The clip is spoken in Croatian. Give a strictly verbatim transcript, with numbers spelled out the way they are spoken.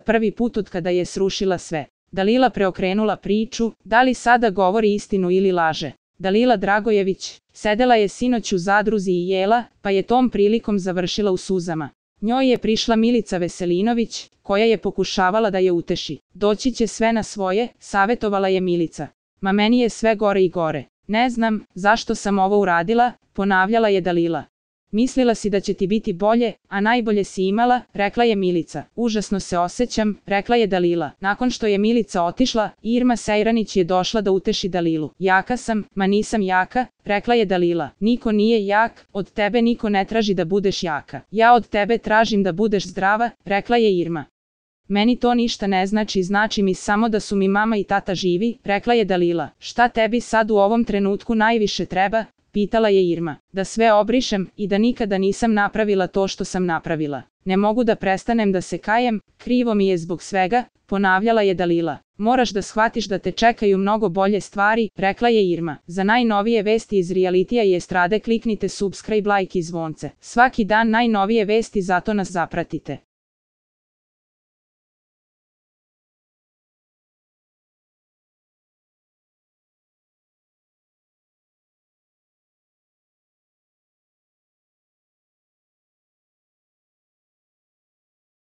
prvi put od kada je srušila sve. Dalila preokrenula priču, da li sada govori istinu ili laže. Dalila Dragojević sedela je sinoć u zadruzi i jela, pa je tom prilikom završila u suzama. Njoj je prišla Milica Veselinović, koja je pokušavala da je uteši. Doći će sve na svoje, savjetovala je Milica. Ma meni je sve gore i gore. Ne znam, zašto sam ovo uradila, ponavljala je Dalila. Mislila si da će ti biti bolje, a najbolje si imala, rekla je Milica. Užasno se osjećam, rekla je Dalila. Nakon što je Milica otišla, Irma Sejranić je došla da uteši Dalilu. Jaka sam, ma nisam jaka, rekla je Dalila. Niko nije jak, od tebe niko ne traži da budeš jaka. Ja od tebe tražim da budeš zdrava, rekla je Irma. Meni to ništa ne znači, znači mi samo da su mi mama i tata živi, rekla je Dalila. Šta tebi sad u ovom trenutku najviše treba? Pitala je Irma. Da sve obrišem i da nikada nisam napravila to što sam napravila. Ne mogu da prestanem da se kajem, krivo mi je zbog svega, ponavljala je Dalila. Moraš da shvatiš da te čekaju mnogo bolje stvari, rekla je Irma. Za najnovije vesti iz realitija i estrade kliknite subscribe, like i zvonce. Svaki dan najnovije vesti, zato nas zapratite.